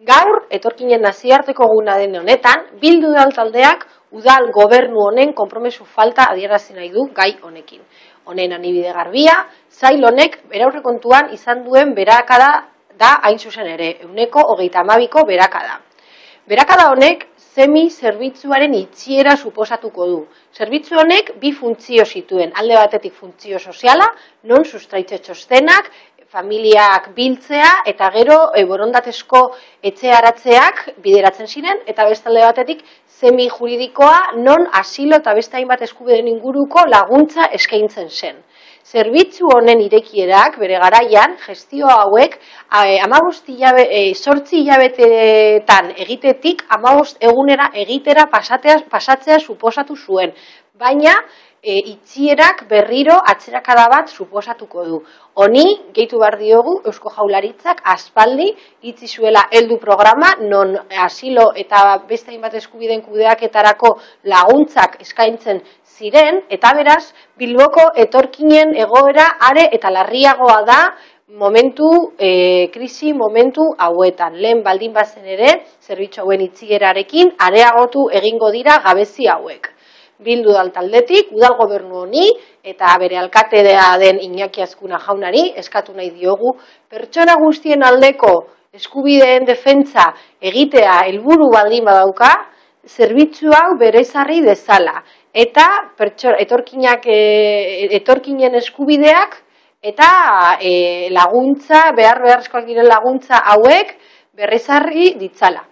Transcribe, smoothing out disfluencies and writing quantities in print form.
Gaur, etorkinen nazioarteko eguna den honetan, Bildu Udal taldeak udal gobernu honen konpromesu falta adierazi nahi du gai honekin. Honen adibide garbia, sail honek bere aurrekontuan izan duen beherakada da hain zuzen ere, 32ko beherakada. Beherakada honek zerbitzuaren itxiera suposatuko du. Zerbitzu honek bi funtzio zituen, alde batetik funtzio soziala, non sustraitze txostenak, familiak biltzea eta gero borondatezko etxearatzeak bideratzen ziren, eta beste alde batetik juridikoa non asilo eta beste hainbat eskubideen inguruko laguntza eskaintzen zen. Zerbitzu honen irekierak bere garaian gestio hauek 8 hilabetetan egitetik 15 egunera egitera pasatzea suposatu zuen, baina itxierak berriro atzerakada bat suposatuko du. Honi, gehitu behar diogu, Eusko Jaurlaritzak aspaldi itxi zuela heldu programa, non asilo eta beste hainbat eskubideen kudeaketarako laguntzak eskaintzen ziren, eta beraz, Bilboko etorkinen egoera are eta larriagoa da krisi momentu hauetan. Lehen baldin bazen ere, zerbitzu hauen itxierarekin, areagotu egingo dira gabezi hauek. Bildu Udal taldetik, udal gobernu honi eta bere alkatea den Iñaki Azkuna jaunari eskatu nahi diogu pertsona guztien aldeko eskubideen defentsa egitea helburu baldin badauka, zerbitzu hau bere ezarri dezala eta etorkinen eskubideak eta laguntza, beharrezkoak diren laguntza hauek berrezarri ditzala.